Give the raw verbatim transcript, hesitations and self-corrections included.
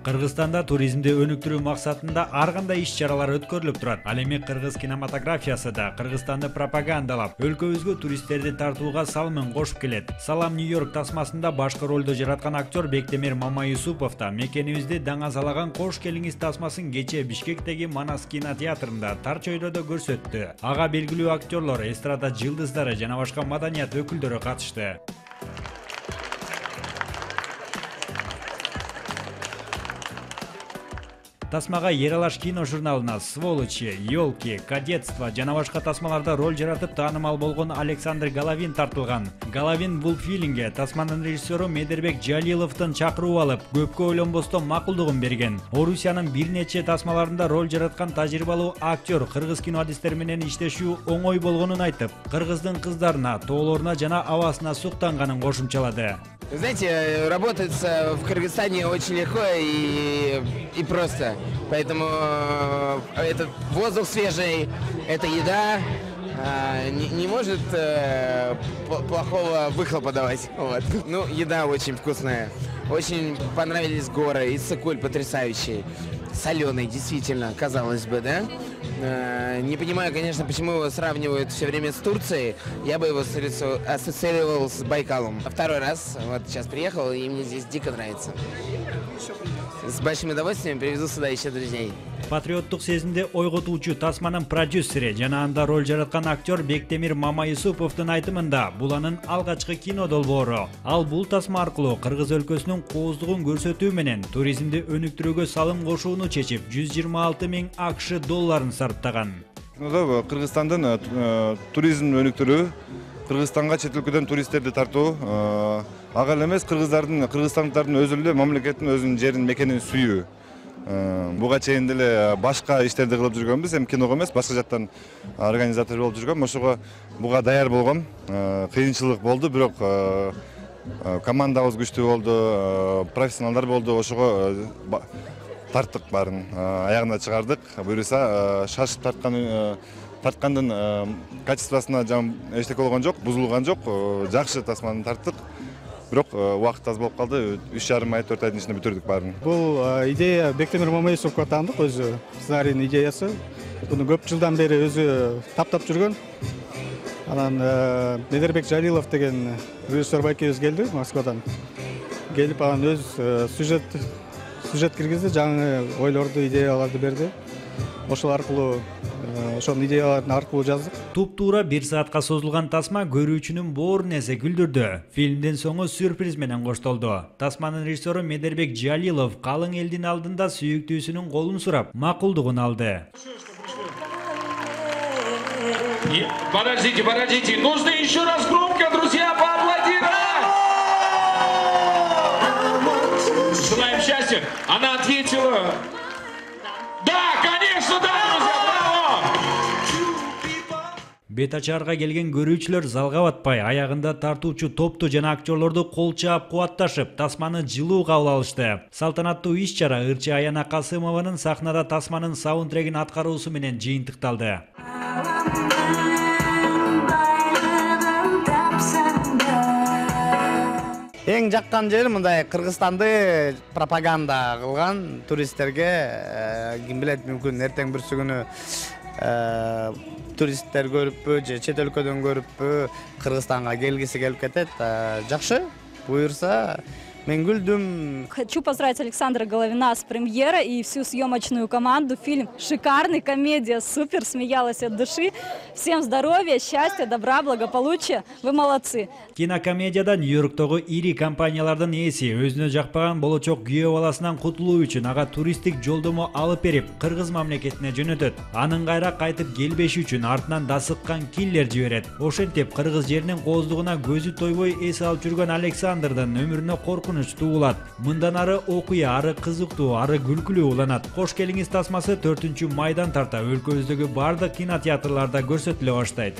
Кыргызстанда туризмди өнүктүрүү максатында ар кандай иш-чаралар өткөрүлүп турат. Ал эми кыргыз кинематографиясы да Кыргызстанды пропагандалап, өлкөбүзгө туристтерди тартууга салымын кошуп келет. Салам Нью-Йорк тасмасында башкы ролду жараткан актер Бектемир Мамаюсупов да мекенибизди даңазалаган кош келиңиз тасмасын кече Бишкектеги Манас кинотеатрында тар чөйрөдө көрсөттү. Ага белгилүү актерлор, эстрада жылдыздары жана башка маданият өкүлдөрү катышты. Тасмага Ералаш кино журналына Сволочи, Ёлки, Кадетство жана башка тасмаларда роль жаратып таанымал болгон Александр Головин тартылган. Головин бул фильмге тасманын режиссеру Медербек Жалиловдун чакыруу алып, көпкө ойлонбостон макулдугун берген. Орусиянын бир нече тасмаларында роль жараткан тажрыйбалуу актер кыргыз кино адистери менен иштешүү оңой болгонун айтып, кыргыздын кыздарына, тоолоруна жана абасына суктанганын кошумчалады. Знаете, работается в Кыргызстане очень легко и, и просто. Поэтому э, этот воздух свежий, эта еда э, не, не может э, плохого выхлопа давать. Вот. Ну, еда очень вкусная. Очень понравились горы. Иссык-Куль потрясающий. Соленый, действительно, казалось бы, да? Э, не понимаю, конечно, почему его сравнивают все время с Турцией. Я бы его ассоциировал с Байкалом. Второй раз, вот сейчас приехал, и мне здесь дико нравится. С большим удовольствием привезу сюда еще друзей. Патриоттук сезимди ойготуучу тасманын продюсери жана анда роль жараткан актер Бектемир Мамаюсуповдун айтымында бул анын алгачкы кино долбоору. Ал бул тасма аркылуу кыргыз өлкөсүнүн кооздугун көрсөтүү менен туризмди өнүктүрүүгө салым кошууну чечип, жүз жыйырма алты миң АКШ долларын сарптаган. Кыргызстандын туризмин өнүктүрүү, Кыргызстанга чет өлкөдөн туристтерди тартуу, ага эле эмес кыргыздардын, кыргызстандыктардын өзү эле мамлекеттин өзүнүн жерин, мекенин сүйүү. Буга чейин деле башка иштерди кылып жүргөнбүз, эми киного эмес, башка жактан организатор болуп жүргөм. Ошого буга даяр болгом. Кыйынчылык болду, бирок командабыз күчтүү болду, профессионалдар болду. Ошого тарттык баарын, аягына чыгардык. Буюрса шашып тарткан тарткандын качествосуна эчтеке болгон жок, бузулган жок. Жакшы тасманы тарттык. Бирок убакыт аз болуп калды. үч жарым ай, төрт айдын ичинде бүтүрдүк баарын. Бул идея Бектемир Мамаюсуповго таандык, өзү сценарийдин идеясы. Буну көп жылдан бери өзү таптап жүргөн. Анан Медербек Жалилов деген режиссер байкебиз келди Москвадан. Келип анан өз сюжет сюжет киргизди, жаңы ойлорду, идеяларды берди. Ошол аркылуу ошонун идеяларын аркылуу жаздык. Туп-туура бир саатка созулган тасма көрүүчүнүн боорун эсе күлдүрдү. Фильмдин соңу сюрприз менен коштолду. Тасманын режиссеру Медербек Жалилов калың элдин алдында сүйүктүүсүнүн колун сурап, макулдугун алды. Подождите, подождите, нужно еще раз громко, друзья, поаплодировать! Желаем счастья. Она ответила... Да, конечно, да, друзья, браво! Бет ачаарга келген көрүүчүлөр залга батпай, аягында тартуучу топту жана актерлорду кол чаап кубатташып, тасманы жылуу кабыл алышты. Салтанаттуу иш-чара ырчы Аяна Касымованын сахнада тасманын саундтрегин аткаруусу менен жыйынтыкталды. Эң жаккан жери мындай Кыргызстанды пропаганда кылган туристтерге, ким билет, мүмкүн эртең бүрсү күнү туристтер көрүппү же чет өлкөдөн көрүппү Кыргызстанга келгиси келип кетет. Жакшы, буюрса мен күлдүм. Хочу поздравить Александра Головина с премьерой и всю съемочную команду. Фильм шикарный, комедия супер, смеялась от души. Всем здоровья, счастья, добра, благополучия. Вы молодцы. Кинокомедияда Нью-Йорктогу ири компаниялардын ээси өзүнө жакпаган болочок күйөө баласынан кутулуу үчүн ага туристтик жолдомо алып берип, Кыргыз мамлекетине жөнөтөт. Анын кайра кайтып келбеши үчүн артынан дасыккан киллер жиберет. Ошентип кыргыз жеринин кооздугуна көзү тойбой эс алып жүргөн Александрдын өмүрүнө коркунуч туулат. Мындан ары окуя, ары кызыктуу, ары күлкүлүү уланат. Кош келиңиз тасмасы төртүнчү майдан тарта өлкөбүздөгү бардык кинотеатрларда көрсөтүлө баштайт.